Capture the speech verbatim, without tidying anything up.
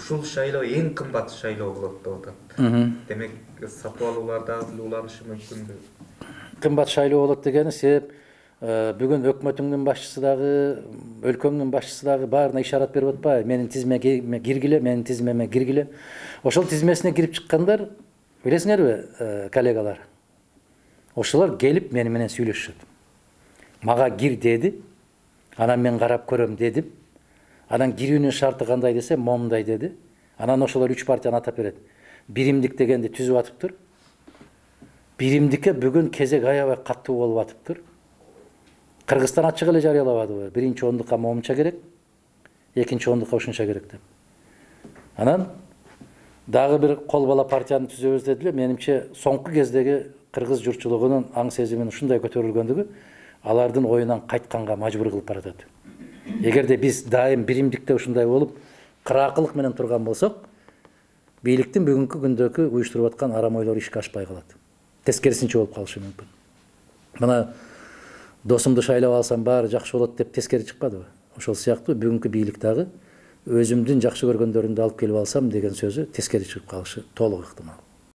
ушул шайлоо эң кымбат шайлоо болот деп атат. Демек сатып алуулар дагы уланышы мүмкүнбү? Кымбат шайлоо болот дегени себеп бүгүн өкмөтүңдүн башчысы дагы, өлкөңдүн башчысы дагы баарына ишарат берип атпайбы? Менин тизмеме киргиле, менин тизмеме киргиле. Ошол тизмесине кирип чыккандар, билесиңерби, коллегалар? Ошолор келип мени менен сүйлөшүшөт. Мага кир деди, анан мен карап көрөм дедим. Анан кирүүнүн шарты кандай десе, момундай деди. Анан ошолор үч партияны атап берет. Биримдик дегенди түзүп атыптыр. Биримдикке бүгүн кезек аябай каттуу болуп атыптыр. Кыргызстан ачык эле жарыялабадыбы? Биринчи ондукка момунча керек, экинчи ондукка ушунча керек деп. Анан дагы бир кол бала партияны түзөбүз дедилер. Менимче соңку кездеги кыргыз журтчулугунун аң сезиминин ушундай көтөрүлгөндүгү алардын оюнан кайтканга мажбур кылып баратат. Эгерде биз дайым биримдикте ушундай болуп, кыраакылык менен турган болсок, бийликтин бүгүнкү күндөгү уюштуруп аткан арам ойлору ишке ашпай калат. Тескерисинче болуп калышы мүмкүн. Мына досумду шайлап алсам баары жакшы болот деп тескери чыкпадыбы? Ошол сыяктуу бүгүнкү бийлик дагы өзүмдүн жакшы көргөндөрүмдү алып келип алсам деген сөзү тескери чыгып калышы толук ыктымал.